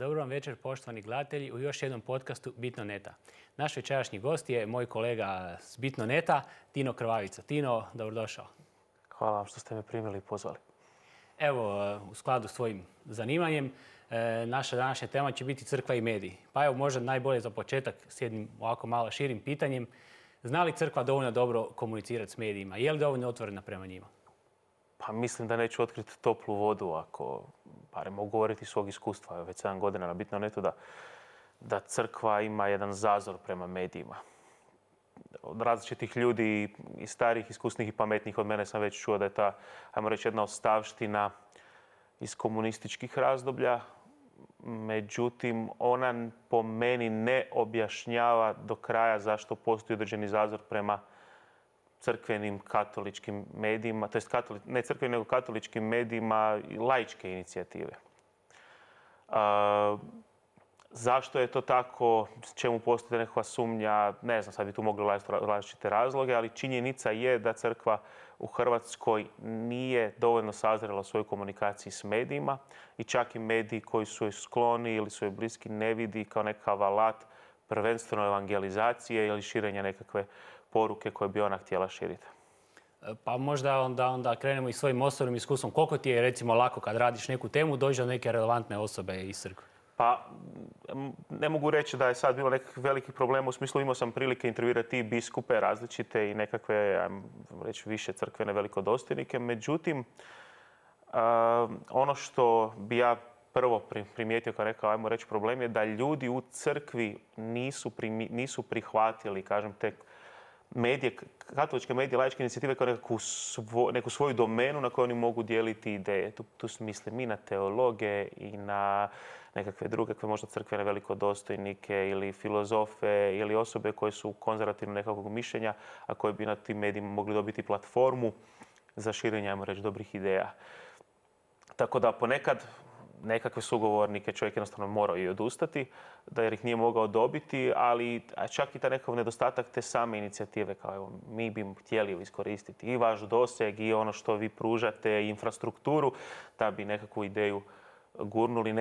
Dobro vam večer, poštovani gledatelji, u još jednom podcastu Bitno neta. Naš večerašnji gost je moj kolega s Bitno neta, Tino Krvavica. Tino, dobrodošao. Hvala vam što ste me primili i pozvali. Evo, u skladu s svojim zanimanjem, naša današnja tema će biti crkva i mediji. Pa evo, možda najbolje za početak s jednim ovako malo širim pitanjem. Zna li crkva dovoljno dobro komunicirati s medijima? Je li dovoljno otvorena prema njima? Pa mislim da neću otkriti toplu vodu ako, barem mogu govoriti iz svog iskustva, već 7 godina na Bitno netu, da crkva ima jedan zazor prema medijima. Od različitih ljudi, i starih, iskusnih i pametnih od mene sam već čuo da je ta, ajmo reći, jedna ostavština iz komunističkih razdoblja. Međutim, ona po meni ne objašnjava do kraja zašto postoji određeni zazor prema crkvenim katoličkim medijima, to jest ne crkvenim nego katoličkim medijima i laičke inicijative. Zašto je to tako, čemu postoji nekakva sumnja, ne znam, sad bi tu mogli različite razloge, ali činjenica je da crkva u Hrvatskoj nije dovoljno sazrela u svojoj komunikaciji s medijima i čak i mediji koji su joj skloni ili su joj bliski ne vidi kao nekakav alat prvenstveno evangelizacije ili širenja nekakve poruke koje bi ona htjela širiti. Pa možda onda krenemo i svojim osobnim iskustvom. Koliko ti je recimo lako kad radiš neku temu doći do neke relevantne osobe iz crkve? Pa ne mogu reći da je sad bilo nekakvih velikih problema. U smislu imao sam prilike intervjuirati i biskupe različite i nekakve, ajmo reći, više crkvene velikodostojnike. Međutim, ono što bi ja prvo primijetio kao rekao, ajmo reći, problem je da ljudi u crkvi nisu prihvatili, kažem, te medije, katoličke medije, laičke inicijative kao neku svoju domenu na kojoj oni mogu dijeliti ideje. Tu mislim i na teologe i na nekakve druge, možda crkvene velikodostojnike ili filozofe ili osobe koje su konzervativno nekakvog mišljenja, a koje bi na tim medijima mogli dobiti platformu za širenje, ajmo reći, dobrih ideja. Tako da ponekad nekakve sugovornike čovjek jednostavno morao i odustati, jer ih nije mogao dobiti, ali čak i taj nekakav nedostatak te same inicijative, kao evo, mi bi htjeli iskoristiti i vaš doseg i ono što vi pružate, i infrastrukturu, da bi nekakvu ideju gurnuli,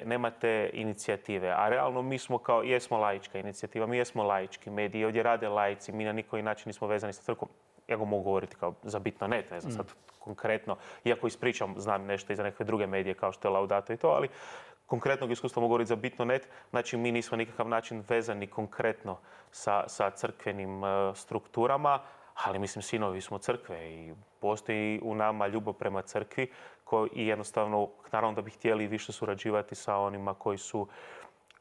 nemate inicijative. A realno mi smo jesmo laička inicijativa, mi jesmo laički mediji, ovdje rade laici, mi na nikoji način nismo vezani sa crkvom. Ja go mogu govoriti kao za Bitno net, ne znam sad konkretno, iako ispričam, znam nešto i za neke druge medije kao što je Laudato i to, ali konkretnog iskustva mogu govoriti za Bitno net, znači mi nismo nikakav način vezani konkretno sa crkvenim strukturama, ali mislim sinovi smo crkve i postoji u nama ljubav prema crkvi i jednostavno, naravno da bi htjeli više surađivati sa onima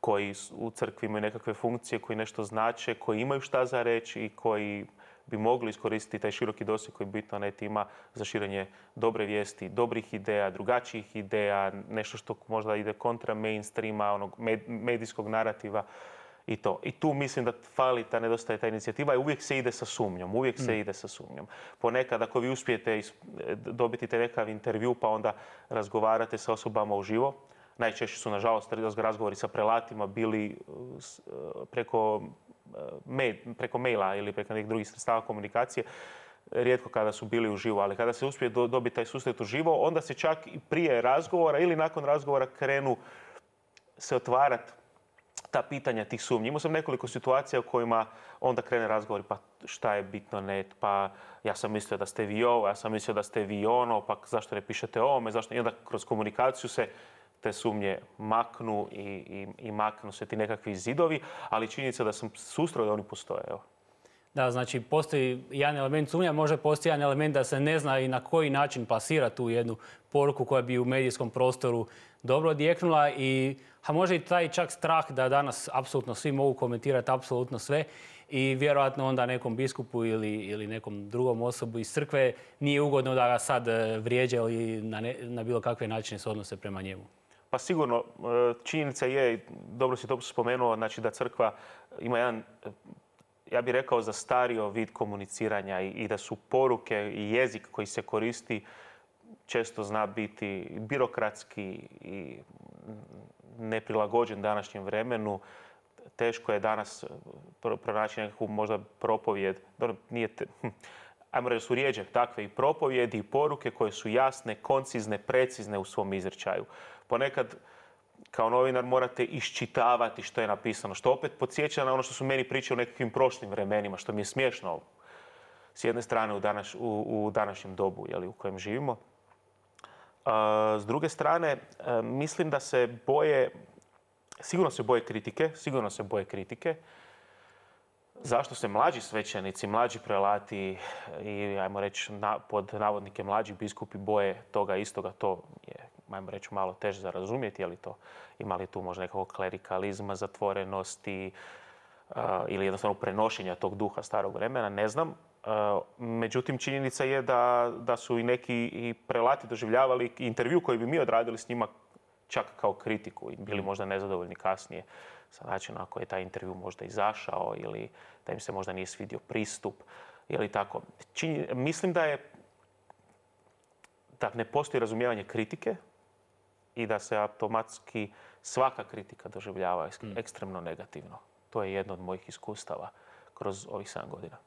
koji u crkvi imaju nekakve funkcije, koji nešto znače, koji imaju šta za reći i koji bi mogli iskoristiti taj široki doseg koji Bitno net ima za širenje dobre vijesti, dobrih ideja, drugačijih ideja, nešto što možda ide kontra mainstreama, onog medijskog narativa i to. I tu mislim da fali nedostaje ta inicijativa i uvijek se ide sa sumnjom. Ponekad ako vi uspijete dobiti taj nekakav intervju pa onda razgovarate sa osobama uživo, najčešće su nažalost razgovori sa prelatima bili preko maila ili preko nekih drugih sredstava komunikacije, rijetko kada su bili uživo, ali kada se uspije dobiti taj susret uživo, onda se čak i prije razgovora ili nakon razgovora krenu se otvarati ta pitanja tih sumnji. Imao sam nekoliko situacija u kojima onda krene razgovori, pa šta je Bitno net, pa ja sam mislio da ste vi ovo, ja sam mislio da ste vi ono, pa zašto ne pišete o ovome, zašto? I onda kroz komunikaciju se te sumnje maknu i maknu se ti nekakvi zidovi, ali činjenica da sam susreo da oni postoje. Evo. Da, znači postoji jedan element sumnja, možda postoji jedan element da se ne zna i na koji način plasira tu jednu poruku koja bi u medijskom prostoru dobro odjeknula a može i taj čak strah da danas apsolutno svi mogu komentirati apsolutno sve i vjerojatno onda nekom biskupu ili nekom drugom osobu iz crkve nije ugodno da ga sad vrijeđa ili na bilo kakve načine se odnose prema njemu. Pa sigurno, činjenica je, dobro si to spomenuo, znači da crkva ima jedan, ja bih rekao, zastario vid komuniciranja i da su poruke i jezik koji se koristi često zna biti birokratski i neprilagođen današnjem vremenu. Teško je danas pronaći nekakvu možda propovijed. Ajmo reći da su rijeđe takve i propovjedi i poruke koje su jasne, koncizne, precizne u svom izričaju. Ponekad kao novinar morate iščitavati što je napisano, što opet podsjeća na ono što su meni pričali u nekakvim prošlim vremenima, što mi je smiješno s jedne strane u današnjem dobu u kojem živimo. S druge strane, mislim da se boje, sigurno se boje kritike. Zašto se mlađi svećenici, mlađi prelati i, ajmo reći, pod navodnike mlađi biskupi boje toga istoga, to je, ajmo reći, malo teže za razumjeti, ima li tu možda nekakvog klerikalizma, zatvorenosti ili jednostavno prenošenja tog duha starog vremena, ne znam. Međutim, činjenica je da su i neki i prelati doživljavali intervju koji bi mi odradili s njima čak kao kritiku i bili možda nezadovoljni kasnije sa načinom na koji je taj intervju možda izašao ili da im se možda nije svidio pristup ili tako. Mislim da ne postoji razumijevanje kritike i da se automatski svaka kritika doživljava ekstremno negativno. To je jedno od mojih iskustava kroz ovih 7 godina.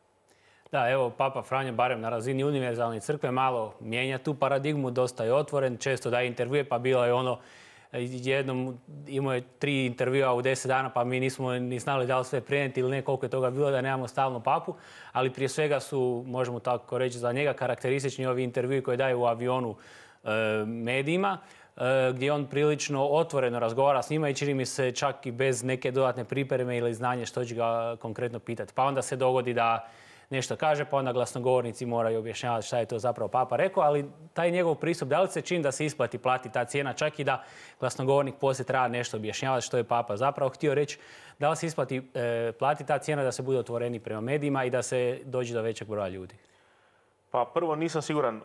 Da, evo, Papa Franjo, barem na razini univerzalne crkve, malo mijenja tu paradigmu, dosta je otvoren, često daje intervjue, pa bilo je ono, jednom imao je 3 intervjua u 10 dana, pa mi nismo ni znali da li sve prenijeti ili ne, koliko je toga bilo, da nemamo stalno papu. Ali prije svega su, možemo tako reći, za njega karakteristični ovi intervjui koje daje u avionu medijima, gdje on prilično otvoreno razgovara s njima i čini mi se čak i bez neke dodatne pripreme ili znanje što će ga konkretno pitati. Pa onda se dogodi da nešto kaže, pa onda glasnogovornici moraju objašnjavati šta je to zapravo Papa rekao, ali taj njegov pristup, da li se čini da se isplati plati ta cijena, čak i da glasnogovornik poslije treba nešto objašnjavati što je Papa zapravo htio reći, da li se isplati plati ta cijena da se bude otvoreni prema medijima i da se dođe do većeg broja ljudi? Pa prvo nisam siguran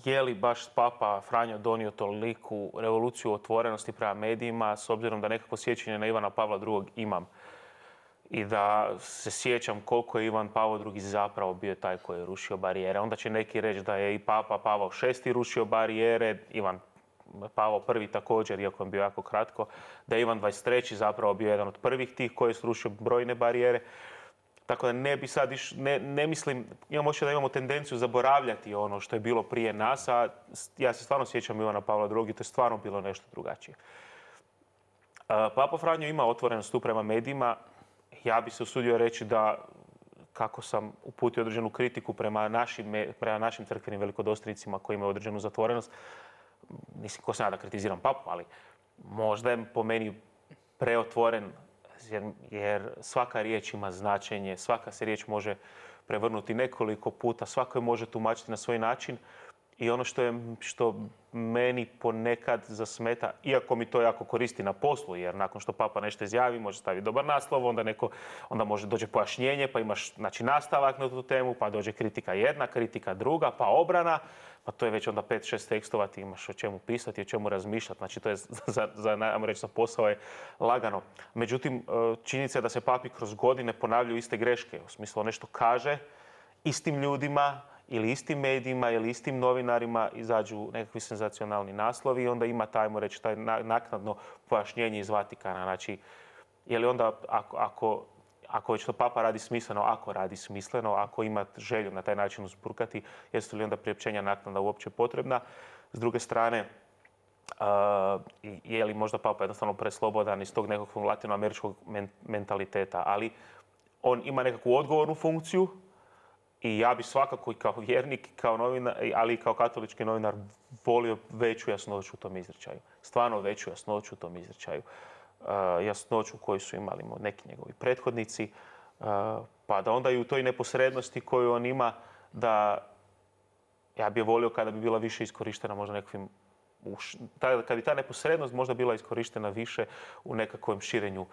je li baš Papa Franjo donio toliku revoluciju otvorenosti prema medijima, s obzirom da nekako sjećanje na Ivana Pavla II imam. I da se sjećam koliko je Ivan Pavao II zapravo bio taj koji je rušio barijere. Onda će neki reći da je i Papa Pavao VI rušio barijere, Ivan Pavao I također, iako je bio jako kratko, da je Ivan XXIII zapravo bio jedan od prvih tih koji je srušio brojne barijere. Tako da ne bi sad ne mislim, imam osjećaj da imamo tendenciju zaboravljati ono što je bilo prije nas, a ja se stvarno sjećam Ivana Pavla II, to je stvarno bilo nešto drugačije. Papa Franjo ima otvorenost tu prema medijima. Ja bi se usudio reći da, kako sam uputio određenu kritiku prema našim crkvenim velikodostojnicima koji imaju određenu zatvorenost, mislim, ko sam ja da kritiziram Papu, ali možda je po meni preotvoren, jer svaka riječ ima značenje, svaka se riječ može prevrnuti nekoliko puta, svako je može tumačiti na svoj način. I ono što meni ponekad zasmeta, iako mi to jako koristi na poslu, jer nakon što Papa nešto izjavi, može staviti dobar naslov, onda može dođe pojašnjenje, pa imaš nastavak na tu temu, pa dođe kritika jedna, kritika druga, pa obrana, pa to je već onda 5-6 tekstova, ti imaš o čemu pisati, o čemu razmišljati. Znači to je za posao je lagano. Međutim, činjenica je da se papi kroz godine ponavljaju iste greške. U smislu nešto kaže istim ljudima, ili istim medijima, ili istim novinarima izađu nekakvi senzacionalni naslovi i onda ima taj naknadno pojašnjenje iz Vatikana. Znači, je li onda, ako već to Papa radi smisleno, ako ima želju na taj način uzburkati, jesu li onda priopćenja naknada uopće potrebna? S druge strane, je li možda Papa jednostavno preslobodan iz tog nekog latinoameričkog mentaliteta, ali on ima nekakvu odgovornu funkciju. I ja bi svakako i kao vjernik, kao novinar, ali i kao katolički novinar volio veću jasnoću u tom izričaju. Stvarno veću jasnoću u tom izričaju. Jasnoću koju su imali neki njegovi prethodnici. Pa da onda i u toj neposrednosti koju on ima, da ja bi volio kada bi bila više iskorištena možda nekakvim... Kad bi ta neposrednost možda bila iskorištena više u nekakvom širenju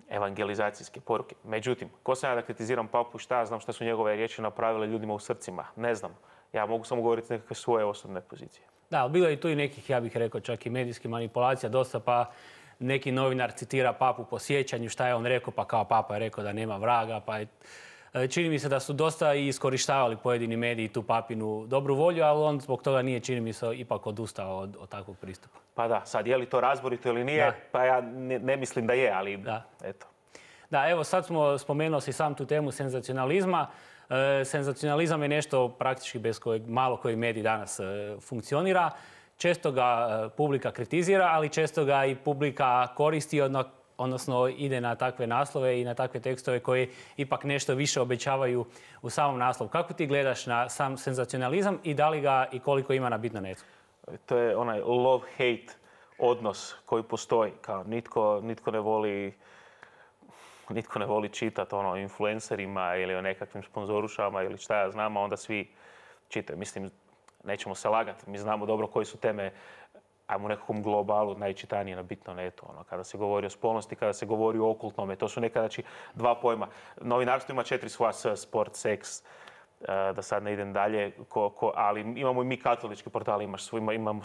evangelizacijske poruke. Međutim, ko sam ja da kritiziram Papu, šta ja znam šta su njegove riječi napravile ljudima u srcima? Ne znam. Ja mogu samo govoriti nekakve svoje osobne pozicije. Da, ali bilo je i tu i nekih, ja bih rekao, čak i medijskih manipulacija dosta, pa neki novinar citira Papu po sjećanju, šta je on rekao, pa kao Papa je rekao da nema vraga, pa je... Čini mi se da su dosta i iskorištavali pojedini mediji tu Papinu dobru volju, ali on zbog toga nije, čini mi se, ipak odustao od takvog pristupa. Pa da, sad je li to razborito ili nije, pa ja ne mislim da je, ali eto. Da, evo sad smo spomenuo si sam tu temu senzacionalizma. Senzacionalizam je nešto praktički bez kojeg malo koji medij danas funkcionira. često ga publika kritizira, ali često ga i publika koristi, odnosno ide na takve naslove i na takve tekstove koji ipak nešto više obećavaju u samom naslovu. Kako ti gledaš na sam senzacionalizam i da li ga i koliko ima na Bitno.netu? To je onaj love-hate odnos koji postoji. Kao nitko ne voli čitati o influencerima ili o nekakvim sponzorušama ili šta ja znam, a onda svi čitaju. Mislim, nećemo se lagati. Mi znamo dobro koje su teme, ajmo u nekakvom globalu, najčitanije na Bitno.netu. Kada se govori o spolnosti, kada se govori o okultnome, to su nekada dva pojma. Novinarstvo ima 4 svoja, sport, seks, da sad ne idem dalje, ali imamo i mi katolički portali, imamo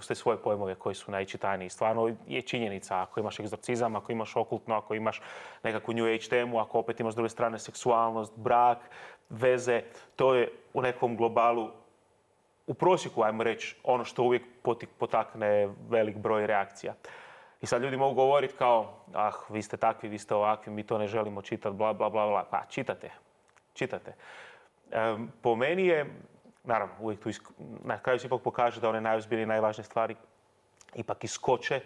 te svoje pojmove koji su najčitaniji. Stvarno je činjenica, ako imaš egzorcizam, ako imaš okultno, ako imaš nekakvu New Age temu, ako opet imaš s druge strane seksualnost, brak, veze, to je u nekom globalu u prosjeku, ajmo reći, ono što uvijek potakne velik broj reakcija. I sad ljudi mogu govoriti kao, vi ste takvi, vi ste ovakvi, mi to ne želimo čitati, bla, bla, bla, bla. Pa, čitate. Po meni je, naravno, uvijek tu na kraju se ipak pokaže da one najozbiljnije, najvažnije stvari ipak iskoče,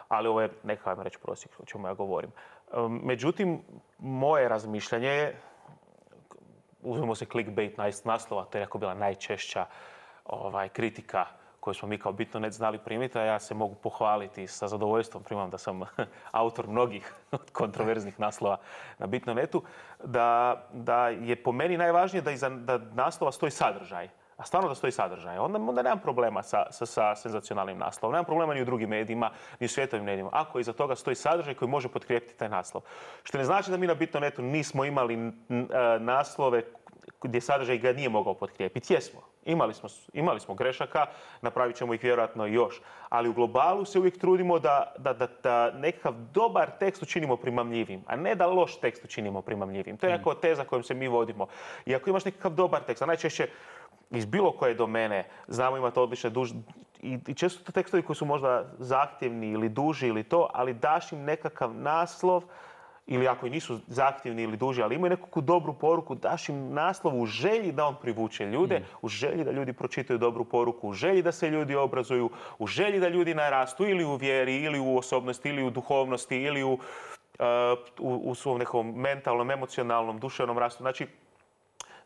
ali ovo je nekakav, ajmo reći, prosjek o čemu ja govorim. Međutim, moje razmišljanje je, uzmemo se clickbait naslova, to je jako bila najčešća kritika koju smo mi kao Bitno.net znali primiti, a ja se mogu pohvaliti sa zadovoljstvom, primam da sam autor mnogih kontroverznih naslova na Bitno.netu, da je po meni najvažnije da naslova stoji sadržaj. A stvarno da stoji sadržaj. Onda nemam problema sa senzacionalnim naslovom. Nemam problema ni u drugim medijima, ni u svjetovim medijima. Ako iza toga stoji sadržaj koji može potkrijepiti taj naslov. Što ne znači da mi na Bitno.netu nismo imali naslove gdje sadržaj ga nije mogao potkrijepiti. Jesmo. Imali smo grešaka, napravit ćemo ih vjerojatno i još. Ali u globalu se uvijek trudimo da nekakav dobar tekst učinimo primamljivim, a ne da loš tekst učinimo primamljivim. To je nekako teza kojom se mi vodimo. I ako imaš nekakav dobar tekst, a najčešće iz bilo koje domene znamo imati odlične i često to tekstovi koji su možda zahtjevni ili duži ili to, ali daš im nekakav naslov, ili ako i nisu zahtjevni ili duži, ali imaju nekakvu dobru poruku, daš im naslov u želji da on privuče ljude, u želji da ljudi pročitaju dobru poruku, u želji da se ljudi obrazuju, u želji da ljudi narastu ili u vjeri, ili u osobnosti, ili u duhovnosti, ili u svom nekom mentalnom, emocionalnom, duševnom rastu. Znači,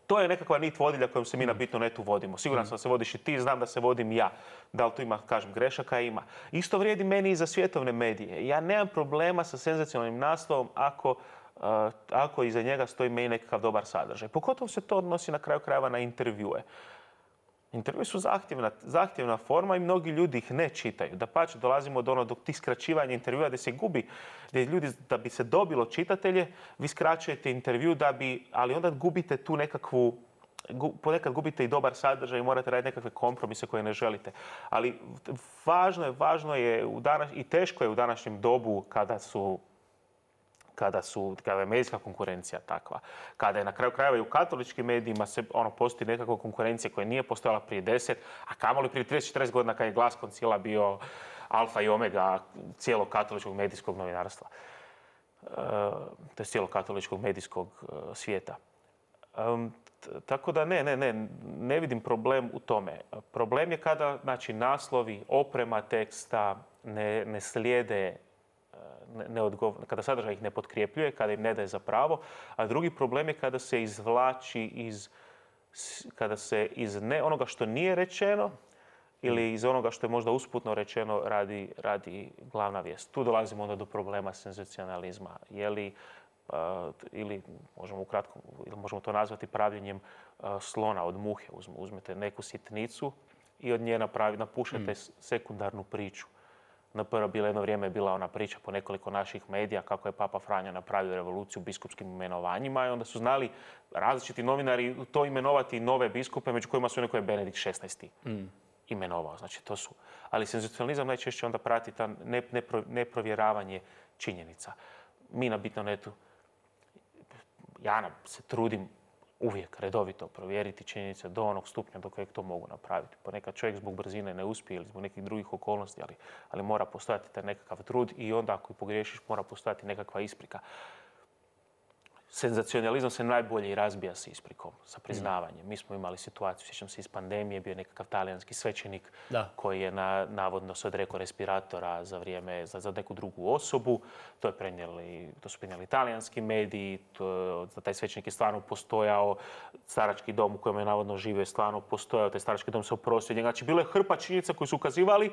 to je nekakva nit vodilja kojom se mi na Bitno.netu vodimo. Siguran sam da se vodiš i ti, znam da se vodim i ja. Da li tu ima, kažem, grešaka? Ima. Isto vrijedi meni i za svjetovne medije. Ja nemam problema sa senzacionalnim naslovom ako iza njega stoji meni nekakav dobar sadržaj. Pogotovo se to odnosi na kraju krajeva na intervjue. Intervjui su zahtjevna forma i mnogi ljudi ih ne čitaju. Dapače, dolazimo do do tih skraćivanja intervjua gdje se gubi, gdje ljudi, da bi se dobilo čitatelje, vi skraćujete intervju ali onda gubite tu nekakvu, ponekad gubite i dobar sadržaj i morate raditi nekakve kompromise koje ne želite. Ali važno je i teško je u današnjem dobu kada je medijska konkurencija takva, kada je na kraju krajeva i u katoličkim medijima postoji nekakva konkurencija koja nije postojala prije 10, a kamoli prije 30-40 godina kad je Glas koncila bio alfa i omega cijelog katoličkog medijskog novinarstva, to je cijelog katoličkog medijskog svijeta. Tako da ne vidim problem u tome. Problem je kada naslovi, oprema teksta ne slijede, kada sadržaj ih ne potkrjepljuje, kada im ne daje za pravo, a drugi problem je kada se izvlači kada se iz onoga što nije rečeno ili iz onoga što je možda usputno rečeno radi glavna vijest. Tu dolazimo onda do problema senzacionalizma. Ili možemo to nazvati pravljenjem slona od muhe. Uzmete neku sitnicu i od nje napušete sekundarnu priču. Jedno vrijeme je bila ona priča po nekoliko naših medija kako je Papa Franjo napravio revoluciju u biskupskim imenovanjima i onda su znali različiti novinari to imenovati nove biskupe, među kojima su neko je Benedikt XVI. Imenovao. Znači, to su. Ali senzacionalizam najčešće onda prati ta neprovjeravanje činjenica. Mi na Bitno.netu, ja se trudim uvijek redovito provjeriti činjenice do onog stupnja do kojeg to mogu napraviti. Ponekad čovjek zbog brzine ne uspije ili zbog nekih drugih okolnosti, ali mora postojati taj nekakav trud i onda ako i pogriješiš mora postojati nekakva isprika. senzacionalizam se najbolje razbija s isprikom, sa priznavanjem. Mi smo imali situaciju, sjećam se iz pandemije, bio je nekakav talijanski svećenik koji je navodno se odrekao respiratora za neku drugu osobu. To su prenijeli talijanski mediji, taj svećenik je stvarno postojao, starački dom u kojem je navodno živio je stvarno postojao, taj starački dom se oprostio. Znači, bilo je hrpa činjenica koji su ukazivali.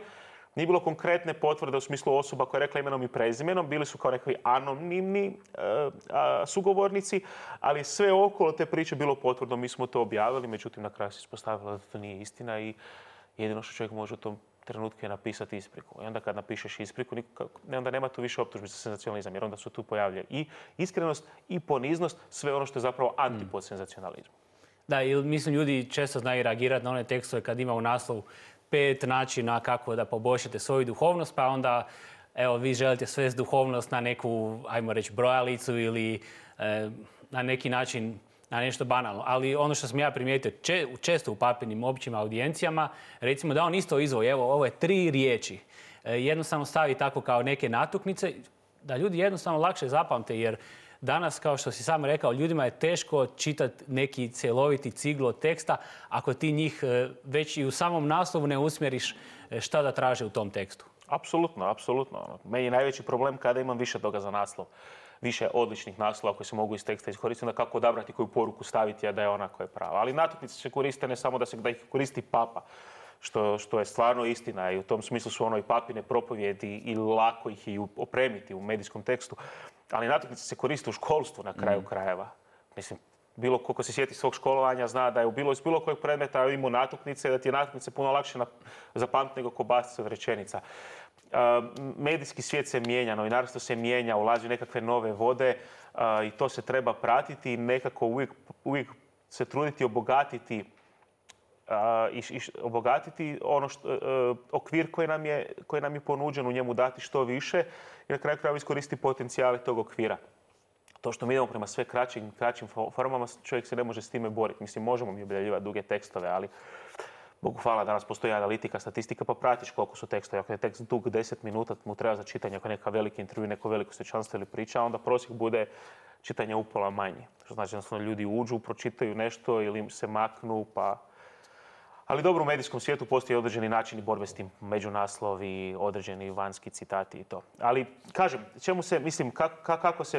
Nije bilo konkretne potvrde u smislu osoba koja je rekla imenom i prezimenom, bili su kao nekakvi anonimni sugovornici, ali sve okolo te priče bilo potvrdno. Mi smo to objavili, međutim na kraju se ispostavilo da to nije istina i jedino što čovjek može u tom trenutku je napisati ispriku. I onda kad napišeš ispriku, onda nema tu više optužbi za senzacionalizam, jer onda su tu pojavlja i iskrenost i poniznost, sve ono što je zapravo antipod senzacionalizmu. Da, i mislim ljudi često znaju reagirati na one tekstove kad ima u naslovu 5 načina kako da poboljšate svoju duhovnost, pa onda evo, vi želite svesti duhovnost na neku, ajmo reći, brojalicu ili na neki način na nešto banalno. Ali ono što sam ja primijetio često u papinim općim audijencijama, recimo da on isto izvoji, evo, ovo je 3 riječi. Jednostavno stavi tako kao neke natuknice, da ljudi jednostavno lakše zapamte, jer danas, kao što si sam rekao, ljudima je teško čitati neki cjeloviti ciglo teksta ako ti njih već i u samom naslovu ne usmjeriš šta da traže u tom tekstu. Apsolutno, apsolutno. Meni je najveći problem kada imam više toga za naslov. Više odličnih naslova koji se mogu iz teksta iskoristiti, onda kako odabrati koju poruku staviti, a da je ona koja je prava. Ali natuknice se koriste ne samo da ih koristi papa, što je stvarno istina i u tom smislu su ono i papine propovjedi i lako ih i opremiti u medijskom tekstu. Ali natuknice se koriste u školstvu na kraju krajeva. Mislim, bilo koliko se sjeti svog školovanja zna da je iz bilo kojeg predmeta imao natuknice, da ti je natuknice puno lakše zapamtiti nego kobasice od rečenica. Medijski svijet se mijenja, novinarstvo se mijenja, ulazi u nekakve nove vode i to se treba pratiti i nekako uvijek se truditi obogatiti okvir koji nam je ponuđen, u njemu dati što više i na kraju krajeva iskoristiti potencijale tog okvira. To što mi idemo prema sve kraćim formama, čovjek se ne može s time boriti. Mislim, možemo mi objavljivati duge tekstove, ali Bogu hvala, danas postoji analitika, statistika, pa pratiš koliko su tekstovi. Ako je tekst dug 10 minuta, mu treba za čitanje, ako je neka veliki intervju, neko veliko svečanstvo ili priča, onda prosjek bude čitanje upola manji. Što znači da ljudi uđu, pročitaju nešto ili se maknu, pa... Ali dobro, u medijskom svijetu postoji određeni načini borbe s tim, međunaslovi, određeni vanjski citati i to. Ali, kažem,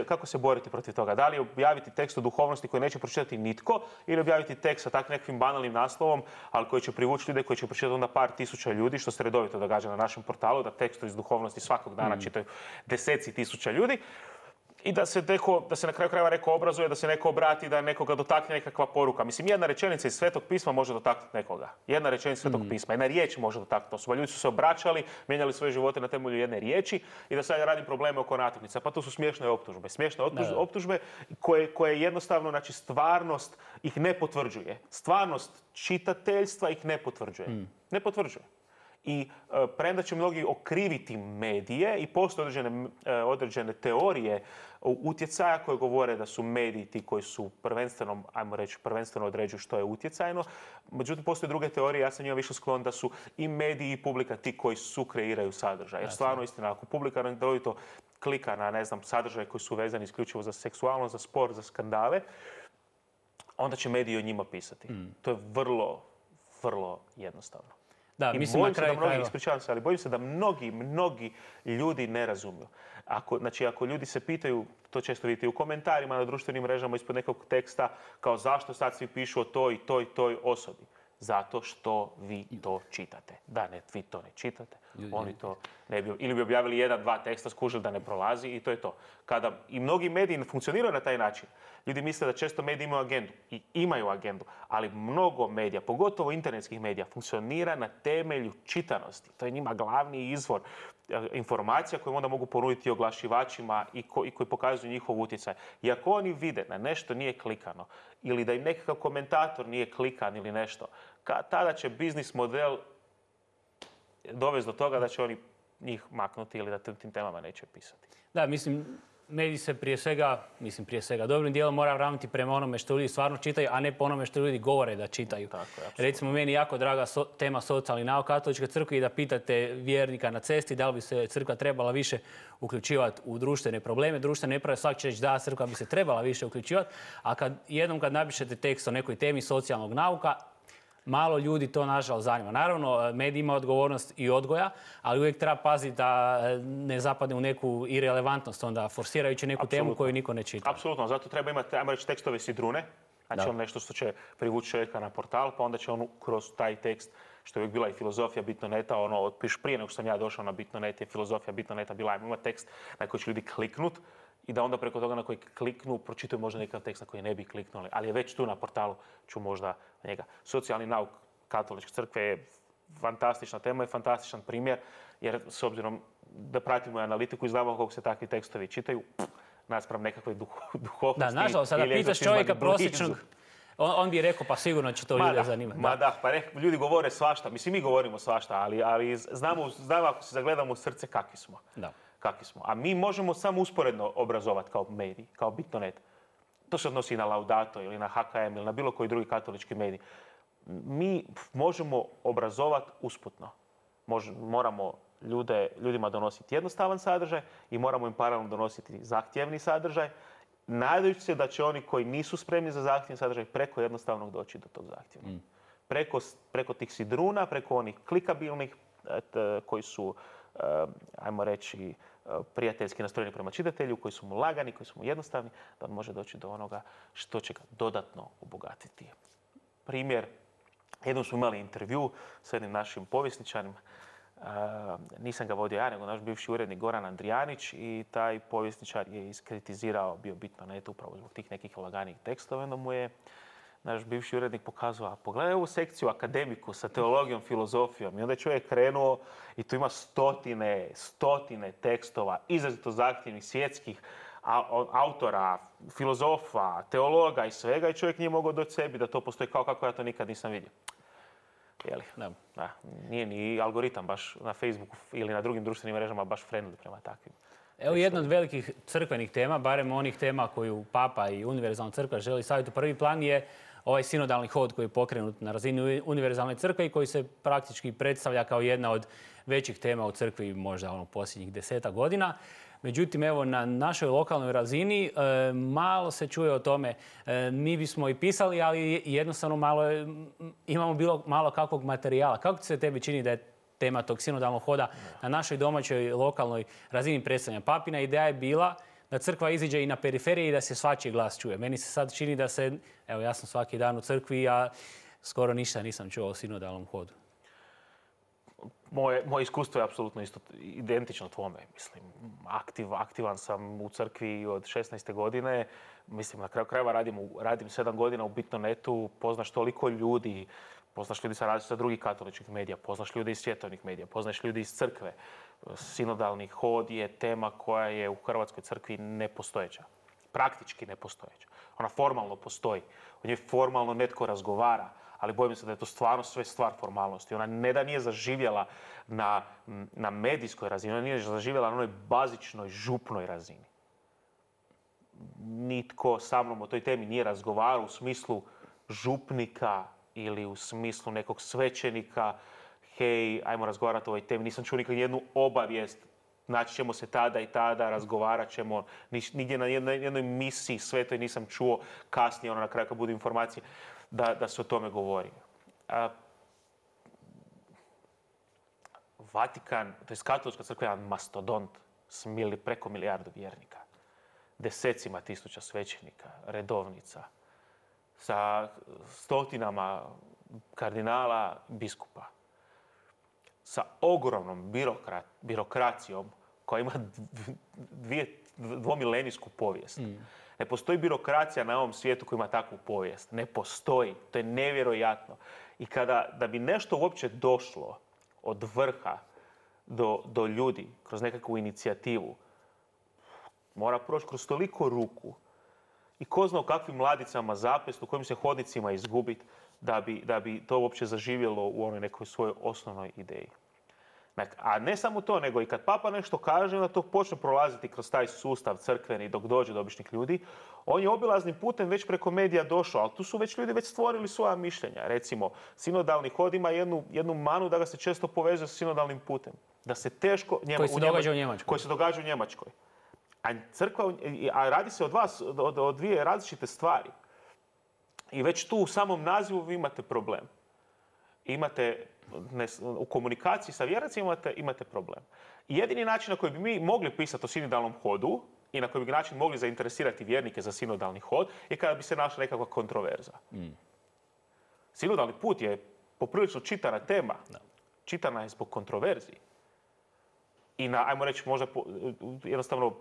kako se boriti protiv toga? Da li objaviti tekst o duhovnosti koji neće pročitati nitko ili objaviti tekst sa tak nekakvim banalnim naslovom, ali koji će privući ljude, koji će pročitati onda par tisuća ljudi, što se redovito događa na našem portalu, da tekstu iz duhovnosti svakog dana čitaju deseci tisuća ljudi. I da se na kraju krajeva neko obrazuje, da se neko obrati, da nekoga dotakne nekakva poruka. Mislim, jedna rečenica iz Svetog pisma može dotaknuti nekoga. Jedna rečenica Svetog pisma, jedna riječ može dotaknuti osoba. Ljudi su se obraćali, mijenjali svoje živote na temelju jedne riječi i da sad ja radim probleme oko natuknica. Pa to su smiješne optužbe. Smiješne optužbe koje jednostavno, znači, stvarnost ih ne potvrđuje. Stvarnost čitateljstva ih ne potvrđuje. Ne potvrđuje. I premda će mnogi okriviti medije i postoje određene teorije utjecaja koje govore da su mediji ti koji su prvenstveno određuju što je utjecajno. Međutim, postoje druge teorije, ja sam njima više sklon da su i mediji i publika ti koji kreiraju sadržaj. Jer stvarno istina, ako publika redovito klika na, sadržaje koji su vezani isključivo za seksualnost, za sport, za skandale, onda će mediji o njima pisati. To je vrlo, vrlo jednostavno. Da, mislim na kraju krajeva. Ispričavam se, ali bojim se da mnogi ljudi ne razumiju. Ako ljudi se pitaju, to često vidite u komentarima na društvenim mrežama ispod nekog teksta, kao zašto sad svi pišu o toj i toj osobi. Zato što vi to čitate. Da, vi to ne čitate. Oni to ne bi... Ili bi objavili 1-2 teksta, skužili da ne prolazi i to je to. Kada i mnogi mediji ne funkcioniraju na taj način, ljudi misle da često mediji imaju agendu. I imaju agendu. Ali mnogo medija, pogotovo internetskih medija, funkcionira na temelju čitanosti. To je njima glavni izvor informacija koje onda mogu ponuditi oglašivačima i koji pokazuju njihov utjecaj. I ako oni vide da nešto nije klikano ili da im nekakav komentator nije klikan ili nešto, tada će biznis model dovesti do toga da će oni njih maknuti ili da tim temama neće pisati. Da, mislim, mediji se prije svega, dobrim dijelom mora ravnati prema onome što ljudi stvarno čitaju, a ne po onome što ljudi govore da čitaju. Recimo, meni je jako draga tema socijalni nauk katoličke crkve i da pitate vjernika na cesti da li bi se crkva trebala više uključivati u društvene probleme. Društvene nepravde svaki će reći da, crkva bi se trebala više uključivati, a kad napišete tekst o nekoj temi socijalnog nauka, malo ljudi to nažalost zanima. Naravno, medij ima odgovornost i odgoja, ali uvijek treba paziti da ne zapadne u neku irelevantnost, onda forsirajući neku temu koju niko ne čita. Apsolutno, zato treba imati, ajmo reći, tekstove sidrune. Znači on nešto što će privući čovjeka na portal, pa onda će on kroz taj tekst, što je uvijek bila i filozofija Bitnoneta, prije nego što sam ja došao na Bitnonet, je filozofija Bitnoneta bila, ajmo imati tekst na koji će ljudi kliknut i da onda preko toga na koji kliknu pročitaju možda nekakav tekst na koji ne bi kliknuli, ali je već tu na portalu, ću možda njega. Socijalni nauk katoličke crkve je fantastična tema i fantastičan primjer, jer s obzirom da pratimo analitiku i znamo koliko se takvi tekstovi čitaju, naspram nekakve duhovnosti. Da, nažalost, sada pitaš čovjeka prosječnog, on bi rekao pa sigurno će to ljude zanimati. Ljudi govore svašta, mislim mi govorimo svašta, ali znamo ako se zagledamo u srce kakvi smo. Kakvi smo. A mi možemo samo usporedno obrazovati kao medij, kao Bitnonet. To se odnosi i na Laudato ili na HKM ili na bilo koji drugi katolički medij. Mi možemo obrazovati usputno. Moramo ljudima donositi jednostavan sadržaj i moramo im paralelno donositi zahtjevni sadržaj, nadajući se da će oni koji nisu spremni za zahtjevni sadržaj preko jednostavnog doći do tog zahtjevnog. Preko tih sidruna, preko onih klikabilnih koji su, ajmo reći, prijateljski nastrojeni prema čitatelju, koji su mu lagani, koji su mu jednostavni, da on može doći do onoga što će ga dodatno obogatiti. Primjer, jednom smo imali intervju s jednim našim povjesničarem, nisam ga vodio ja, nego naš bivši urednik Goran Andrijanić i taj povjesničar je iskritizirao bio Bitnonet upravo zbog tih nekih laganijih tekstova. Onda mu je naš bivši urednik pokazao, pogledaj ovu sekciju akademiku sa teologijom, filozofijom. I onda je čovjek krenuo i tu ima stotine tekstova, izrazito zahtjevnih svjetskih autora, filozofa, teologa i svega i čovjek nije mogao doći sebi da to postoji kao kako ja to nikad nisam vidio. Nije ni algoritam baš na Facebooku ili na drugim društvenim mrežama baš friendly prema takvim. Evo jedna od velikih crkvenih tema, barem onih tema koju Papa i Univerzalna crkva želi staviti u prvi plan je ovaj sinodalni hod koji je pokrenut na razini Univerzalne crkve i koji se praktički predstavlja kao jedna od većih tema u crkvi možda posljednjih 10 godina. Međutim, evo, na našoj lokalnoj razini malo se čuje o tome. Mi bismo i pisali, ali jednostavno imamo malo kakvog materijala. Kako se tebi čini da je tema tog sinodalnog hoda na našoj domaćoj lokalnoj razini predstavljanja? Papina ideja je bila da crkva iziđe i na periferiji i da se svačiji glas čuje. Meni se sad čini da se, evo ja sam svaki dan u crkvi, a skoro ništa nisam čuo o sinodalnom hodu. Moje iskustvo je apsolutno isto identično tvome. Mislim, aktivan sam u crkvi od 16. godine. Mislim, na kraju krajeva radim 7 godina u Bitnonetu, poznaš toliko ljudi, poznaš ljudi sa drugih katoličkih medija, poznaš ljudi iz svjetovnih medija, poznaš ljudi iz crkve. Sinodalni hod je tema koja je u Hrvatskoj crkvi nepostojeća. Praktički nepostojeća. Ona formalno postoji. O njoj formalno netko razgovara, ali bojim se da je to stvarno sve stvar formalnosti. Ona ne da nije zaživjela na medijskoj razini, ona nije zaživjela na onoj bazičnoj, župnoj razini. Nitko sa mnom o toj temi nije razgovarao u smislu župnika ili u smislu nekog svećenika. Hej, ajmo razgovarati o ovoj temi. Nisam čuo nikad jednu obavijest. Naći ćemo se tada i tada, razgovarat ćemo. Nigdje na jednoj misiji svetoj nisam čuo kasnije, na kraju kad budu informacije, da se o tome govori. Vatikan, to je katolička crkva, jedan mastodont s preko milijardu vjernika. Desecima tisuća svećenika, redovnica, sa stotinama kardinala, biskupa. Sa ogromnom birokracijom koja ima dvomilenijsku povijest. Ne postoji birokracija na ovom svijetu koja ima takvu povijest. Ne postoji. To je nevjerojatno. I da bi nešto uopće došlo od vrha do ljudi kroz nekakvu inicijativu, mora proći kroz toliko ruku i ko zna u kakvim ladicama zapest, u kojim se hodnicima izgubiti da bi to uopće zaživjelo u onoj nekoj svojoj osnovnoj ideji. A ne samo to, nego i kad papa nešto kaže, onda to počne prolaziti kroz taj sustav crkveni dok dođe do običnih ljudi. On je obilaznim putem već preko medija došao, ali tu su već ljudi stvorili svoja mišljenja. Recimo, sinodalni hod ima jednu manu da ga se često povezuje s sinodalnim putem. Da se teško... Koji se događa u Njemačkoj. Koji se događa u Njemačkoj. A radi se o dvije različite stvari. I već tu u samom nazivu vi imate problem. U komunikaciji sa vjernicima imate problem. I jedini način na koji bi mi mogli pisati o sinodalnom hodu i na koji bi način mogli zainteresirati vjernike za sinodalni hod je kada bi se našla nekakva kontroverza. Sinodalni put je poprilično čitana tema. Čitana je zbog kontroverziji. I ajmo reći, možda jednostavno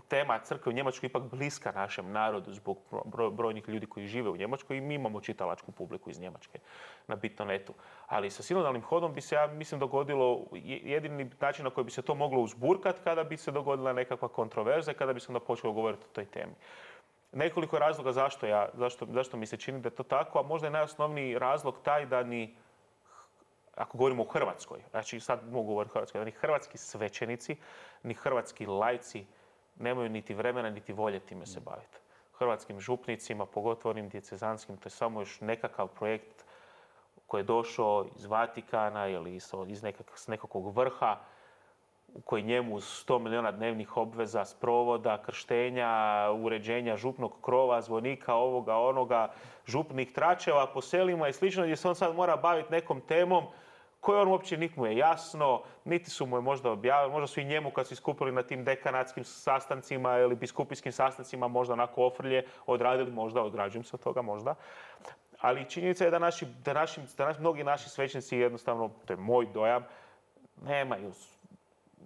tema crkve u Njemačkoj ipak bliska našem narodu zbog brojnih ljudi koji žive u Njemačkoj i mi imamo čitalačku publiku iz Njemačke na Bitnonetu. Ali sa sinodalnim hodom bi se, ja mislim, dogodilo jedini način na koji bi se to moglo uzburkati kada bi se dogodila nekakva kontroverza i kada bi se onda počelo govoriti o toj temi. Nekoliko razloga zašto mi se čini da je to tako, a možda je najosnovniji razlog taj da ako govorimo o Hrvatskoj, znači sad mogu govoriti o Hrvatskoj, da ni hrvatski svećenici, ni hrvatski laici nemaju niti vremena, niti volje time se baviti. Hrvatskim župnicima, pogotovo onim djecezanskim, to je samo još nekakav projekt koji je došao iz Vatikana ili s nekakvog vrha, koji njemu uz 100 milijuna dnevnih obveza, sprovoda, krštenja, uređenja župnog krova, zvonika, ovoga, onoga, župnih tračeva po selima i slično, gdje se on sad mora baviti nekom temom koju on uopće niti mu je jasno, niti su mu je možda objavili, možda su i njemu kad su iskupili na tim dekanatskim sastancima ili biskupijskim sastancima možda onako ofrlje odradili, možda odrađujem se od toga, možda. Ali činjenica je da mnogi naši svećenici jednostavno, to je moj dojam, nemaju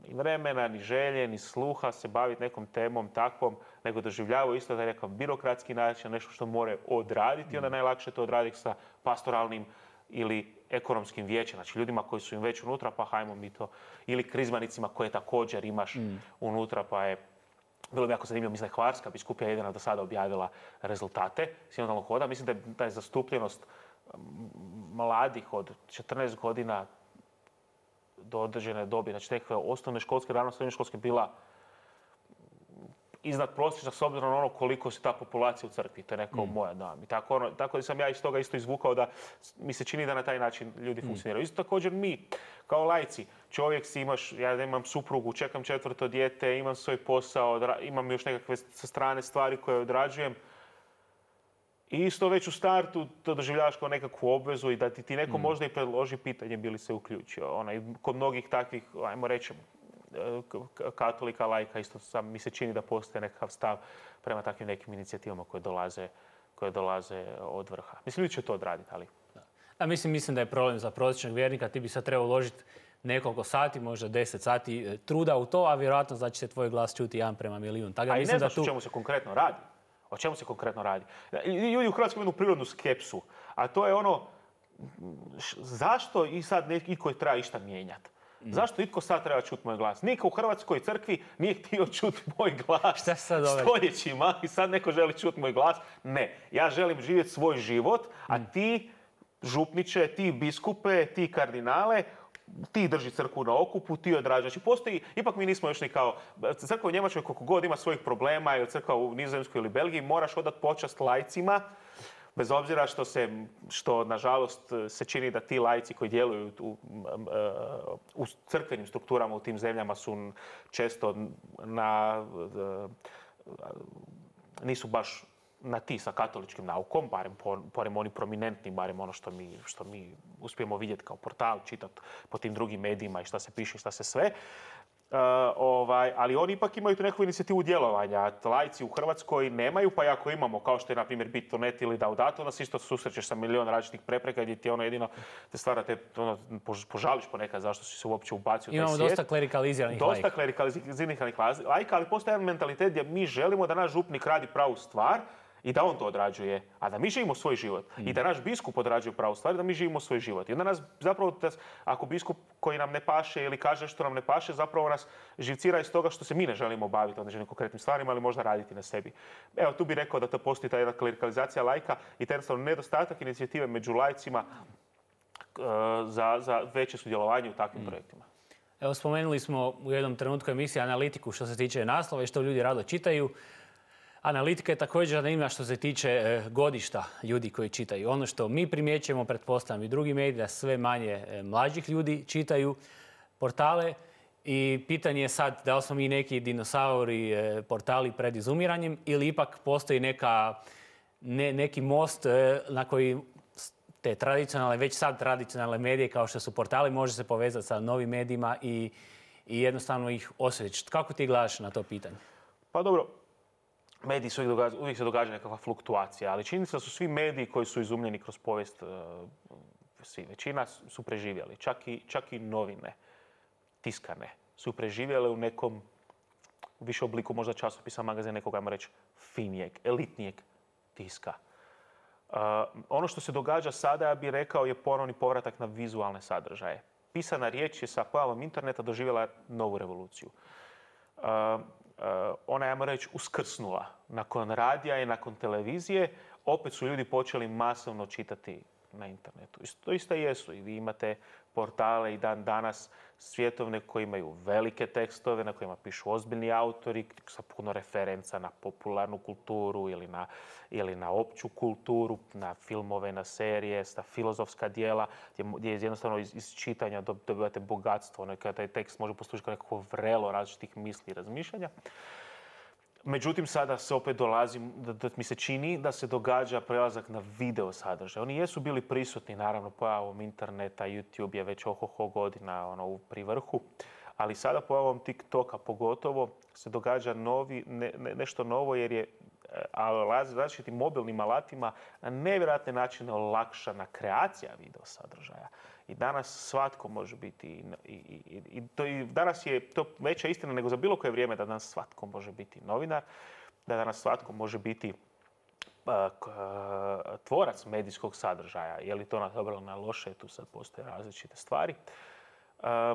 ni vremena, ni želje, ni sluha se baviti nekom temom takvom, nego doživljavaju isto da je nekakav birokratski način, nešto što more odraditi, onda najlakše to odraditi sa pastoralnim ili ekonomskim vijećem, znači ljudima koji su im već unutra, pa hajmo mi to, ili krizmanicima koje također imaš unutra, pa je bilo mi jako zanimljivo, mislim da je Hvarska biskupija jedina do sada objavila rezultate sinodalnog hoda. Mislim da je zastupljenost mladih od 14 godina do određene dobi, znači nekakve osnovne školske, rano srednje školske bila iznad prosječna s obzirom na ono koliko se ta populacija u crkvi. To je nekako moja dojam. I tako da sam ja iz toga isto izvukao da mi se čini da na taj način ljudi funkcioniraju. Isto također mi, kao laici, čovjek si imaš, ja imam suprugu, čekam 4. dijete, imam svoj posao, imam još nekakve sa strane stvari koje odrađujem. I isto već u startu to doživljavaš kao nekakvu obvezu i da ti neko možda i predloži pitanje bi li se uključio. Kod mnogih takvih, ajmo reći, katolika, laika, isto mi se čini da postoje nekakav stav prema takvim nekim inicijativama koje dolaze od vrha. Mislim, ljudi će to odraditi, ali... A mislim da je problem za prosječnog vjernika. Ti bi sad trebao uložiti nekoliko sati, možda 10 sati truda u to, a vjerojatno znači se tvoj glas čuti 1:1.000.000. A i ne znaš o čemu se konkretno radi. O čemu se konkretno radi? Ljudi u Hrvatskoj imaju prirodnu skepsu, a to je ono, zašto i sad itko treba išta mijenjati? Zašto itko sad treba čuti moj glas? Niko u Hrvatskoj crkvi nije htio čuti moj glas stoljećima i sad neko želi čuti moj glas. Ne, ja želim živjeti svoj život, a ti župniče, ti biskupe, ti kardinale, ti drži crkvu na okupu, ti odrađaš. Znači postoji, ipak mi nismo još ni kao, crkva u Njemačkoj koliko god ima svojih problema, ili crkva u Nizozemskoj ili Belgiji, moraš odati počast laicima, bez obzira što nažalost se čini da ti laici koji djeluju u crkvenim strukturama u tim zemljama su često nisu baš na ti sa katoličkim naukom, barem oni prominentni, barem ono što mi uspijemo vidjeti kao portal, čitati po tim drugim medijima i šta se piše, šta se sve. Ali oni ipak imaju tu neku inicijativu djelovanja. Laici u Hrvatskoj nemaju, pa i ako imamo, kao što je na primjer Bitnonet ili Laudato, onda se isto susrećeš sa milion različitih prepreka gdje ti jedino te stvara te požališ ponekad zašto si se uopće ubacio u taj svijet. Imamo dosta klerikaliziranih laika. Dosta klerikaliziranih laika, ali postoji jedan mentalitet gdje mi želimo da naš župnik radi pravu stvar i da on to odrađuje, a da mi živimo svoj život. I da naš biskup odrađuje pravu stvar, da mi živimo svoj život. I onda nas zapravo, ako biskup koji nam ne paše ili kaže što nam ne paše, zapravo nas živcira iz toga što se mi ne želimo baviti određenim konkretnim stvarima, ali možda raditi na sebi. Evo, tu bih rekao da to postoji ta jedna klerikalizacija laika i taj jednostavno nedostatak inicijative među laicima za veće sudjelovanje u takvim projektima. Evo, spomenuli smo u jednom trenutku emisije analitiku što se tiče naslova i što ljudi rado čitaju. Analitika je također zanimljiva što se tiče godišta ljudi koji čitaju. Ono što mi primjećujemo, pretpostavljam i drugi mediji, da sve manje mlađih ljudi čitaju portale. I pitanje je sad da li smo mi neki dinosauri portali pred izumiranjem ili ipak postoji neki most na koji te tradicionalne, već sad tradicionalne medije kao što su portali može se povezati sa novim medijima i jednostavno ih osjećati. Kako ti gledaš na to pitanje? Pa dobro, mediji se uvijek se događa nekakva fluktuacija, ali čini se da su svi mediji koji su izumljeni kroz povijest, većina su preživjeli. Čak i novine, tiskane, su preživjele u nekom više obliku, možda časopisa, magazina, nekog, ajmo reći, finijeg, elitnijeg tiska. Ono što se događa sada, ja bih rekao, je ponovni povratak na vizualne sadržaje. Pisana riječ je sa pojavom interneta doživjela novu revoluciju. Ona, ajmo reći, uskrsnula. Nakon radija i nakon televizije, opet su ljudi počeli masovno čitati na internetu. To isto jesu. I vi imate portale i dan danas svjetovne koji imaju velike tekstove, na kojima pišu ozbiljni autori, sa puno referenca na popularnu kulturu ili na opću kulturu, na filmove, na serije, na filozofska djela, gdje jednostavno iz čitanja dobivate bogatstvo. Kada taj tekst može poslužiti kao nekako vrelo različitih misli i razmišljanja. Međutim, sada se opet dolazi, da mi se čini da se događa prelazak na video sadržaj. Oni jesu bili prisutni, naravno, pojavom interneta, YouTube je već godina pri vrhu, ali sada pojavom TikToka pogotovo se događa nešto novo jer je različitim mobilnim alatima na nevjerojatne načine olakšana kreacija video sadržaja. I danas svatko može biti, danas je to veća istina nego za bilo koje vrijeme da danas svatko može biti novinar, da danas svatko može biti tvorac medijskog sadržaja. Je li to na dobro ili na loše, tu sad postoje različite stvari.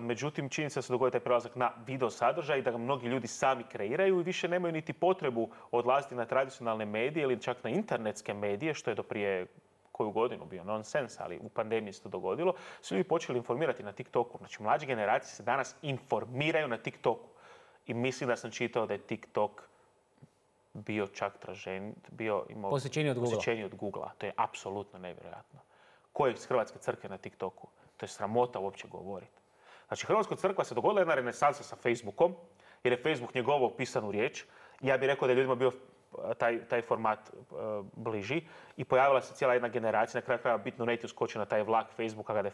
Međutim, čini se da se dogodi taj prelazak na video sadržaj i da ga mnogi ljudi sami kreiraju i više nemaju niti potrebu odlaziti na tradicionalne medije ili čak na internetske medije, što je do prije koju godinu bio nonsens, ali u pandemiji se to dogodilo, su ljudi počeli informirati na TikToku. Znači, mlađe generacije se danas informiraju na TikToku. I mislim da sam čitao da je TikTok bio čak imao posjećenije od Googlea. To je apsolutno nevjerojatno. Ko je iz Hrvatske crkve na TikToku? To je sramota uopće govoriti. Znači, Hrvatska crkva se dogodila jedna renesansa sa Facebookom, jer je Facebook njegovao pisanu riječ. Ja bih rekao da je ljudima bio taj format bliži i pojavila se cijela jedna generacija. Na kraju krajeva bitno neće uskoči na taj vlak Facebooka kada je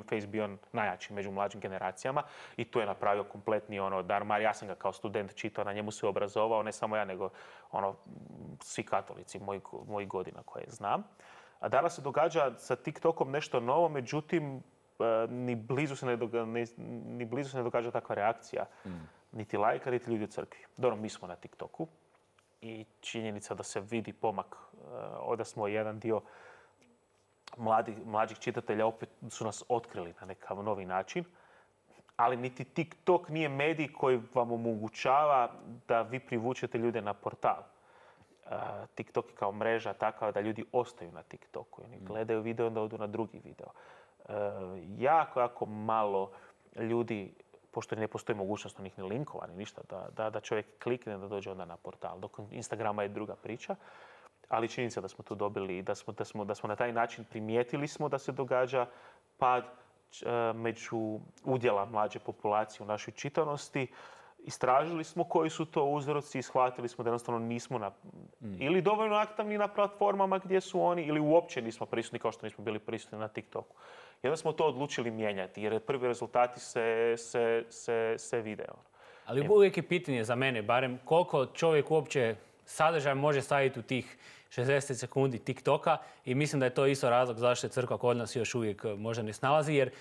Face bio najjači među mlađim generacijama i tu je napravio kompletni darmar. Ja sam ga kao student čitao, na njemu se obrazovao, ne samo ja, nego svi katolici mojih godina koje znam. A danas se događa sa TikTokom nešto novo, međutim, ni blizu se ne događa takva reakcija. Niti lajka, niti ljudi u crkvi. Dobro, mi smo na TikToku i činjenica da se vidi pomak, da smo jedan dio mlađih čitatelja opet su nas otkrili na nekakav novi način, ali niti TikTok nije medij koji vam omogućava da vi privučete ljude na portal. TikTok je kao mreža takva da ljudi ostaju na TikToku. Oni gledaju video, onda odu na drugi video. Jako malo ljudi, pošto ne postoji mogućnost onih ni linkova, ni ništa, da čovjek klikne da dođe onda na portal. Dok Instagrama je druga priča, ali činjenica da smo tu dobili i da smo na taj način primijetili smo da se događa pad među udjela mlađe populacije u našoj čitanosti. Istražili smo koji su to uzroci i shvatili smo da jednostavno nismo ili dovoljno aktivni na platformama gdje su oni ili uopće nismo prisutni kao što nismo bili prisutni na TikToku. I onda smo to odlučili mijenjati jer prvi rezultati se vide. Ali uvijek je pitanje za mene, barem koliko čovjek uopće sadržaj može staviti u tih 60 sekundi TikToka i mislim da je to isto razlog zašto je crkva kod nas još uvijek možda ne snalazi jer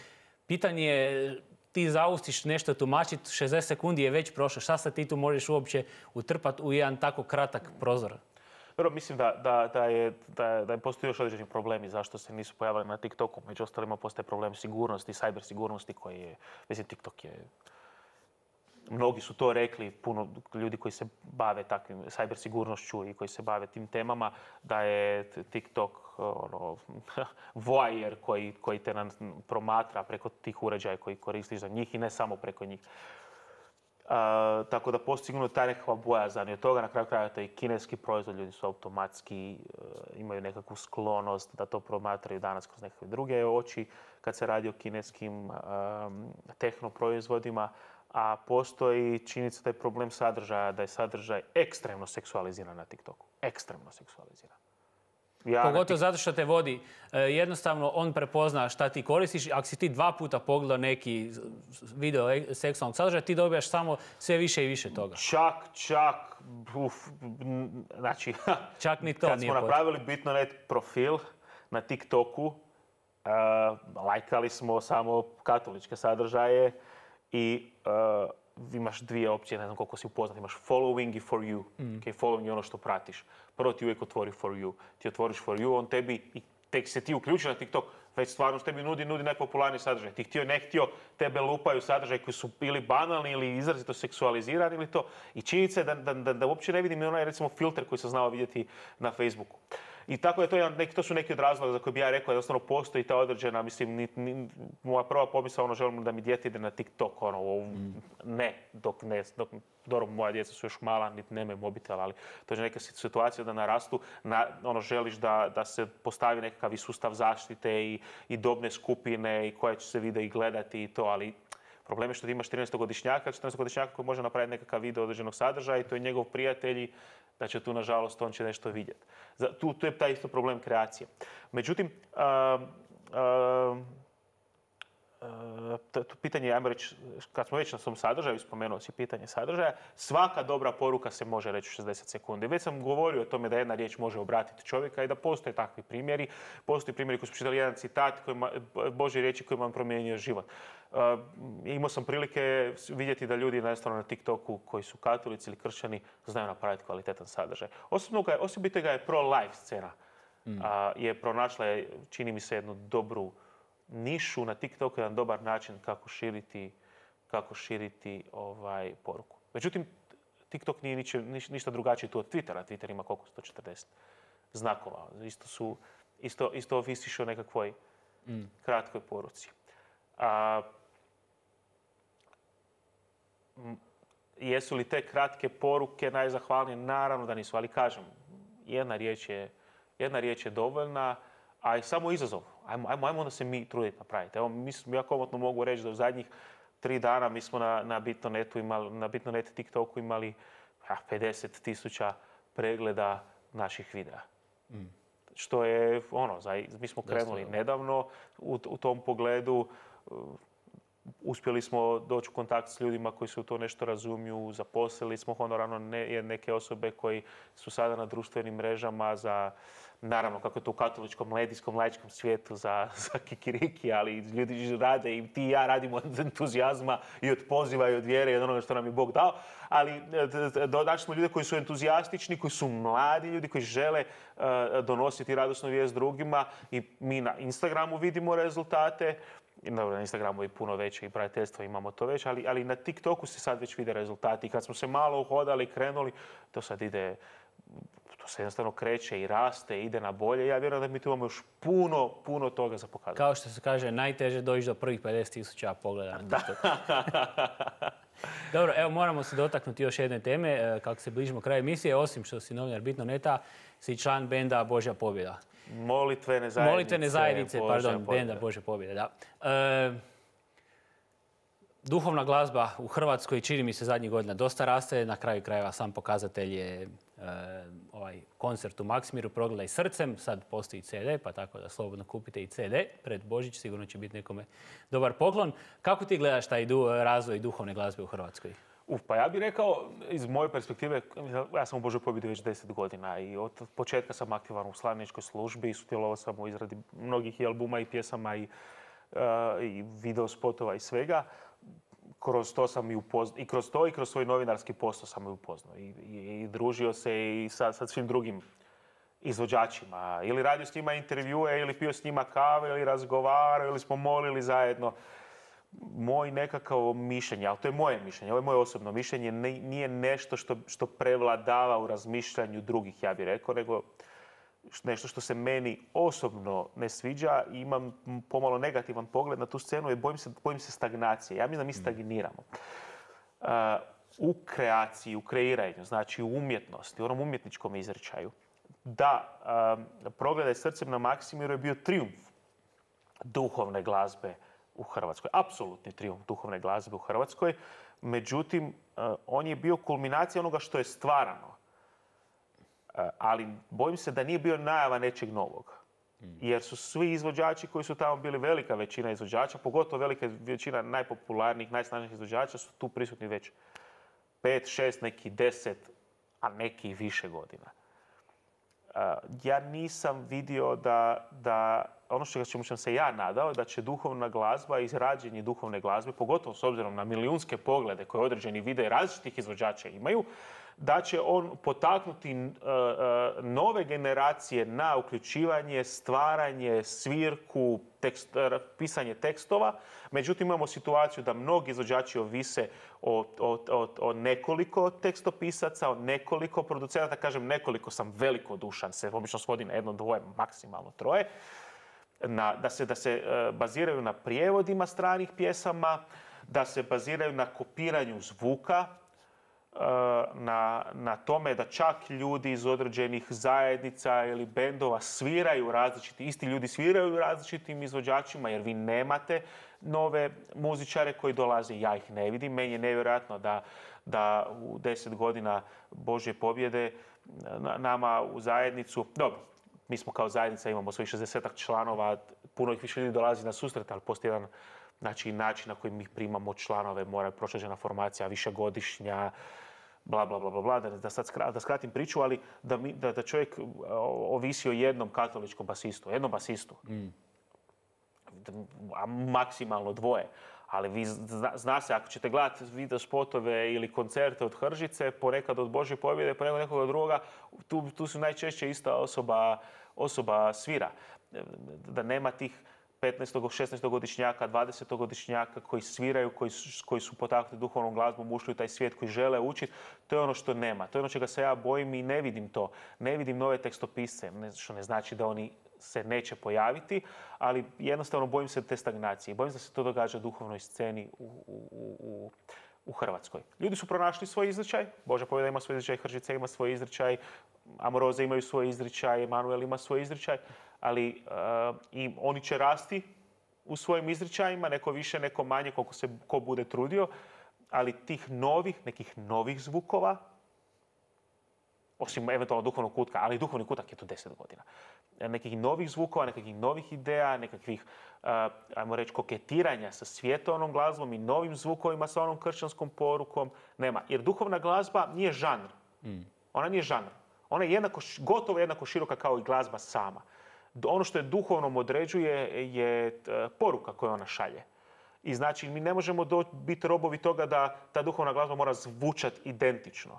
pitanje je ti zaustiš nešto tumačiti, 60 sekundi je već prošlo. Šta se ti tu možeš uopće utrpati u jedan tako kratak prozor? Dobro, mislim da postoji još određeni problemi zašto se nisu pojavili na TikToku. Među ostalima postoje problem sigurnosti, cyber sigurnosti koji je, mislim, TikTok je mnogi su to rekli, puno ljudi koji se bave takvim cyber sigurnošću i koji se bave tim temama, da je TikTok voajer koji te promatra preko tih uređaja koji koristiš za njih i ne samo preko njih. Tako da postoji sigurno ta nekakva bojazan i od toga na kraju krajeva i kineski proizvod, ljudi su automatski, imaju nekakvu sklonost da to promatraju danas kroz nekakve druge oči kad se radi o kineskim tehnoproizvodima, a postoji činjenica da je problem sadržaja, da je sadržaj ekstremno seksualiziran na TikToku. Ekstremno seksualiziran. Pogotovo zato što te vodi. Jednostavno, on prepozna šta ti koristiš. Ako si ti 2 puta pogledao neki video seksualnog sadržaja, ti dobijaš samo sve više i više toga. Znači, čak ni to kad nije smo napravili Bitnonet profil na TikToku, lajkali smo samo katoličke sadržaje i imaš 2 opcije, ne znam koliko si upoznat, imaš following i for you. Following je ono što pratiš. Prvo ti uvijek otvori for you. Ti otvoriš for you, on tebi, i tek se ti uključi na TikTok, već stvarno tebi nudi najpopularniji sadržaj. Ti htio, ne htio, tebe lupaju sadržaj koji su ili banalni ili izrazito seksualizirani ili to. I činjenica je da uopće ne vidim onaj, recimo, filter koji sam znao vidjeti na Facebooku. I tako je to su neki od razloga za koje bi ja rekao da jednostavno postoji ta određena, mislim, moja prva pomisla, želim da mi dijete ide na TikTok, dok moja djeca su još mala, niti nemaju mobitel, ali to je neka situacija da narastu, želiš da se postavi nekakav i sustav zaštite i dobne skupine i koje će se videi gledati i to, ali problem je što ti imaš 14-godišnjaka koji može napraviti nekakav video određenog sadržaja i to je njegov prijatelj, da će tu, nažalost, on će nešto vidjeti. Tu je taj isto problem kreacije. Međutim, pitanje, ajmo reći, kad smo već na svom sadržaju, spomenuo si pitanje sadržaja, svaka dobra poruka se može reći u 60 sekundi. Već sam govorio o tome da jedna riječ može obratiti čovjeka i da postoje takvi primjeri. Postoje primjeri koji su čitali jedan citat, Božje riječi kojima on promijenio život. Imao sam prilike vidjeti da ljudi na TikToku koji su katolici ili kršćani znaju napraviti kvalitetan sadržaj. Osobito ga je pro-life scena. Je pronašla, čini mi se, jednu dobru nišu na TikToku, jedan dobar način kako širiti poruku. Međutim, TikTok nije ništa drugačije tu od Twittera. Twitter ima koliko? 140 znakova. Isto ovisiš o nekakvoj kratkoj poruci. Jesu li te kratke poruke najzahvalnije? Naravno da nisu, ali kažem, jedna riječ je dovoljna, a i samo izazov. Ajmo onda se mi truditi napraviti. Evo, ja komotno mogu reći da u zadnjih 3 dana mi smo na Bitnonet TikToku imali 50,000 pregleda naših videa. Što je, mi smo krenuli nedavno u tom pogledu. Uspjeli smo doći u kontakt s ljudima koji se u to nešto razumiju, zaposlili smo honorarno neke osobe koji su sada na društvenim mrežama za, naravno, kako je to u katoličkom, medijskom, laičkom svijetu, za kikiriki, ali ljudi rade i ti i ja radimo od entuzijazma i od poziva i od vjere i od onoga što nam je Bog dao. Ali dodaći smo ljude koji su entuzijastični, koji su mladi ljudi, koji žele donositi radosnu vijest drugima i mi na Instagramu vidimo rezultate. Dobro, na Instagramu je puno veće i prijateljstvo, imamo to već, ali na TikToku se sad već vide rezultati. I kad smo se malo uhodali i krenuli, to sad ide, to se jednostavno kreće i raste, ide na bolje. Ja vjerujem da mi tu imamo još puno toga za pokazati. Kao što se kaže, najteže doći do prvih 50,000 pogleda na TikToku. Dobro, evo moramo se dotaknuti još jedne teme. Kako se bližimo kraju emisije, osim što si novinar Bitnoneta, si član benda Božja pobjeda. Molitvene zajednice, benda Božja pobjeda, da. Duhovna glazba u Hrvatskoj, čini mi se, zadnjih godina dosta raste. Na kraju krajeva sam pokazatelj je ovaj koncert u Maksimiru, Progledaj srcem. Sad postoji CD, pa tako da slobodno kupite i CD. Pred Božić sigurno će biti nekome dobar poklon. Kako ti gledaš taj razvoj duhovne glazbe u Hrvatskoj? Pa ja bih rekao, iz moje perspektive, ja sam u Božoj pobjedi već 10 godina i od početka sam aktivan u slavljeničkoj službi i sudjelovao sam u izradi mnogih i albuma i pjesama i video spotova i svega. Kroz to sam i kroz svoj novinarski posao sam i upoznao i družio se i sa svim drugim izvođačima. Ili radio s njima intervjue, ili pio s njima kave, ili razgovarao, ili smo molili zajedno. moj nekakav mišljenje, ali to je moje mišljenje, ovo je moje osobno mišljenje, nije nešto što prevladava u razmišljanju drugih, ja bih rekao, nego nešto što se meni osobno ne sviđa i imam pomalo negativan pogled na tu scenu i bojim se stagnacije. Ja mislim da mi stagniramo. U kreaciji, u kreiranju, znači u umjetnosti, u onom umjetničkom izričaju. Da, Progledaj srcem na Maksimiru je bio trijumf duhovne glazbe u Hrvatskoj. Apsolutni trijumf duhovne glazbe u Hrvatskoj. Međutim, on je bio kulminacija onoga što je stvarano. Ali bojim se da nije bio najava nečeg novog. Jer su svi izvođači koji su tamo bili, velika većina izvođača, pogotovo velika većina najpopularnijih, najsnažnijih izvođača su tu prisutni već 5, 6, neki 10, a neki i više godina. Ja nisam vidio da ono čemu sam se ja nadao, da će duhovna glazba, izrađenje duhovne glazbe, pogotovo s obzirom na milijunske poglede koje određeni videi različitih izvođača imaju, da će on potaknuti nove generacije na uključivanje, stvaranje, svirku, pisanje tekstova. Međutim, imamo situaciju da mnogi izvođači ovise o nekoliko tekstopisaca, o nekoliko producenata. Kažem nekoliko, sam velikodušan, se obično svodi na 1, 2, maksimalno 3. Da se baziraju na prijevodima stranih pjesama, da se baziraju na kopiranju zvuka, na tome da čak ljudi iz određenih zajednica ili bendova sviraju isti ljudi sviraju različitim izvođačima, jer vi nemate nove muzičare koji dolaze. Ja ih ne vidim. Meni je nevjerojatno da u 10 godina Božje pobjede nama u zajednicu, dobro, mi smo kao zajednica, imamo svojih 60-ak članova, puno ih više ljudi dolazi na susret, ali postoji jedan način na koji mi primamo članove, mora proći određena formacija, višegodišnja, bla, bla, bla, bla, da skratim priču, ali da čovjek ovisi o jednom katoličkom basistu, a maksimalno 2. Ali zna se, ako ćete gledati video spotove ili koncerte od Hržice, ponekad od Božje pobjede, ponekad nekoga drugoga, tu su najčešće ista osoba svira. Da nema tih 15. 16-godišnjaka, 20-godišnjaka koji sviraju, koji su potaknuti duhovnom glazbom, ušli u taj svijet, koji žele učiti, to je ono što nema. To je ono čega se ja bojim i ne vidim to. Ne vidim nove tekstopisce, što ne znači da oni se neće pojaviti, ali jednostavno bojim se te stagnacije. Bojim se da se to događa duhovnoj sceni u Hrvatskoj. Ljudi su pronašli svoj izričaj, Božja pobjeda ima svoj izričaj, Hržica ima svoj izričaj, Amoroze imaju svoj izričaj, Emanuel ima svoj izričaj, ali i oni će rasti u svojim izričajima, neko više, neko manje, koliko se ko bude trudio, ali nekih novih zvukova, osim eventualno duhovnog kutka, ali duhovni kutak je tu 10 godina. Nekih novih zvukova, nekakvih novih ideja, nekakvih, ajmo reći, koketiranja sa svjetovnom glazbom i novim zvukovima sa onom kršćanskom porukom nema. Jer duhovna glazba nije žanr. Ona nije žanr. Ona je gotovo jednako široka kao i glazba sama. Ono što je duhovnom određuje je poruka koju ona šalje. I znači mi ne možemo biti robovi toga da ta duhovna glazba mora zvučati identično.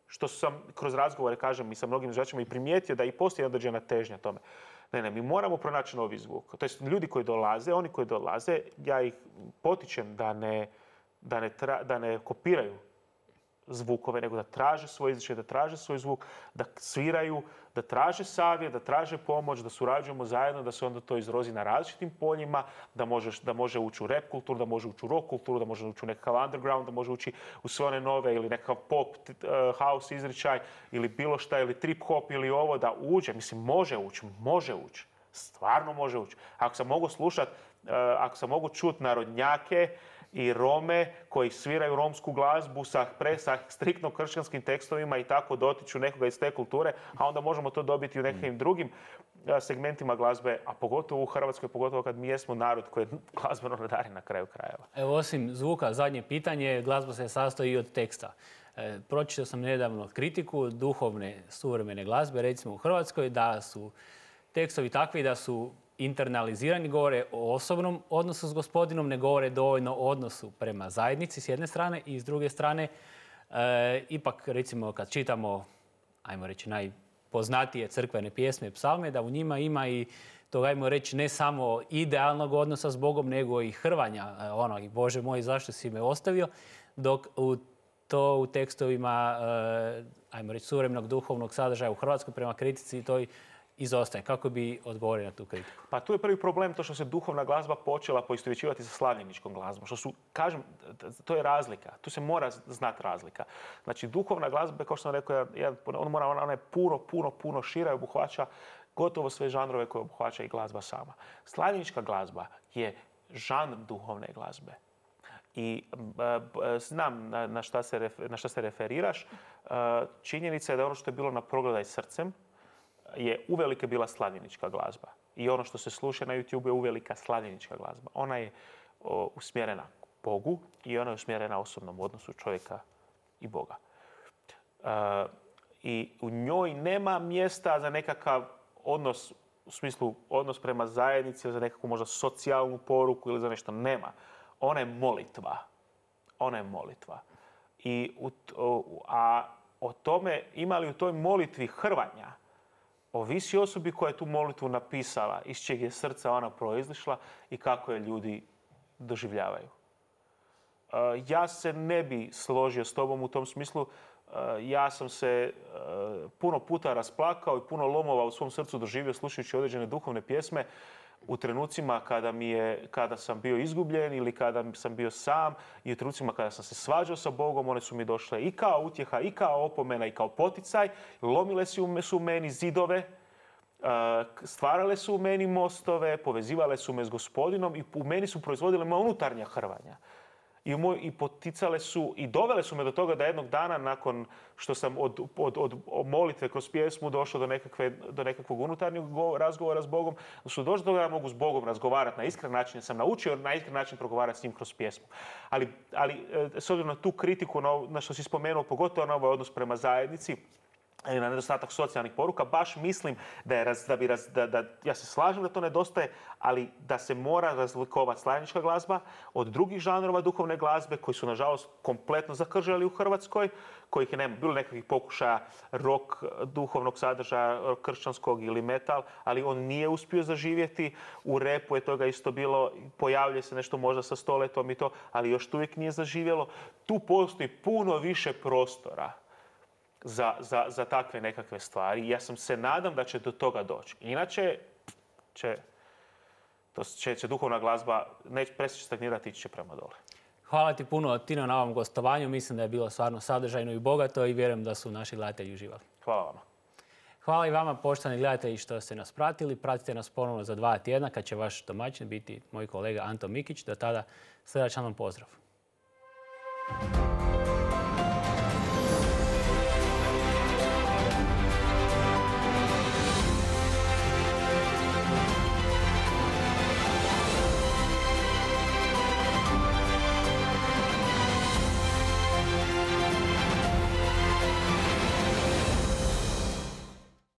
Što sam kroz razgovore, kažem, i sa mnogim izvođačima i primijetio da i postoji određena težnja tome. Ne, mi moramo pronaći novi zvuk. To jest, ljudi koji dolaze, oni koji dolaze, ja ih potičem da ne kopiraju zvukove, nego da traže svoj izričaj, da traže svoj zvuk, da sviraju, da traže savjet, da traže pomoć, da surađujemo zajedno, da se onda to izrozi na različitim poljima, da može ući u rap kulturu, da može ući u rock kulturu, da može ući u nekakav underground, da može ući u sve one nove ili nekakav pop, house izričaj ili bilo šta, ili trip hop ili ovo, da uđe. Mislim, može ući. Stvarno može ući. Ako sam mogu čuti narodnjake i Rome koji sviraju romsku glazbu sa striktno kršćanskim tekstovima i tako dotiču nekoga iz te kulture, a onda možemo to dobiti u nekim drugim segmentima glazbe, a pogotovo u Hrvatskoj, pogotovo kad mi jesmo narod koji je glazbeno nadaren na kraju krajeva. Evo, osim zvuka, zadnje pitanje, glazba se sastoji i od teksta. Pročitao sam nedavno kritiku duhovne suvremene glazbe, recimo u Hrvatskoj, da su tekstovi takvi da su internalizirani, govore o osobnom odnosu s Gospodinom, ne govore dovoljno o odnosu prema zajednici s jedne strane i s druge strane, ipak recimo kad čitamo, ajmo reći, poznatije crkvene pjesme i psalme, da u njima ima i to, ajmo reći, ne samo idealnog odnosa s Bogom, nego i hrvanja. I Bože moj, zašto si me ostavio? Dok u tekstovima, ajmo reći, suvremenog duhovnog sadržaja u Hrvatskoj prema kritici to izostaje. Kako bi odgovorio na tu kritiku? Pa tu je prvi problem to što se duhovna glazba počela poistovjećivati sa slavljeničkom glazbom. Što su, kažem, to je razlika. Tu se mora znati razlika. Znači, duhovna glazba, kao što sam rekao, ona je puno šira i obuhvaća gotovo sve žanrove koje obuhvaća i glazba sama. Slavljenička glazba je žanr duhovne glazbe. I znam na šta se referiraš. Činjenica je da ono što je bilo na Progledaj srcem je uvelike bila slavljenička glazba. I ono što se sluša na YouTube je uvelika slavljenička glazba. Ona je usmjerena Bogu i ona je usmjerena osobnom odnosu čovjeka i Boga. I u njoj nema mjesta za nekakav odnos, u smislu odnos prema zajednici ili za nekakvu možda socijalnu poruku ili za nešto. Nema. Ona je molitva. Ona je molitva. A o tome ima li u toj molitvi hrvanja, ovisi osobi koja je tu molitvu napisala, iz čeg je srca ona proizišla i kako je ljudi doživljavaju. Ja se ne bi složio s tobom u tom smislu. Ja sam se puno puta rasplakao i puno lomova u svom srcu doživio slušajući određene duhovne pjesme u trenucima kada sam bio izgubljen ili kada sam bio sam i u trenucima kada sam se svađao sa Bogom. One su mi došle i kao utjeha, i kao opomena, i kao poticaj. Lomile su u meni zidove, stvarale su u meni mostove, povezivale su me s Gospodinom i u meni su proizvodile moja unutarnja hrvanja. I poticale su i dovele su me do toga da jednog dana nakon što sam od molitve kroz pjesmu došao do nekakvog unutarnjeg razgovora s Bogom, su došli do toga da mogu s Bogom razgovarati na iskren način, jer sam naučio na iskren način progovarati s njim kroz pjesmu. Ali s obzirom na tu kritiku, na što si spomenuo, pogotovo na ovaj odnos prema zajednici, na nedostatak socijalnih poruka, baš mislim ja se slažem da to nedostaje, ali da se mora razlikovati slavljenička glazba od drugih žanrova duhovne glazbe koji su, nažalost, kompletno zakržali u Hrvatskoj, kojih je nema bilo nekakvih pokušaja rock duhovnog sadržaja, kršćanskog ili metal, ali on nije uspio zaživjeti. U repu je toga isto bilo, pojavljuje se nešto možda sa Stoletom i to, ali još uvijek nije zaživjelo. Tu postoji puno više prostora za takve nekakve stvari. Ja se nadam da će do toga doći. Inače će duhovna glazba prestaći stagnirati i ići će prema dole. Hvala ti puno, Tino, na ovom gostovanju. Mislim da je bilo stvarno sadržajno i bogato i vjerujem da su naši gledatelji uživali. Hvala vama. Hvala i vama, poštovani gledatelji, što ste nas pratili. Pratite nas ponovno za 2 tjedna kad će vaš domaćin biti moj kolega Anto Mikić. Do tada srdačan vam pozdrav.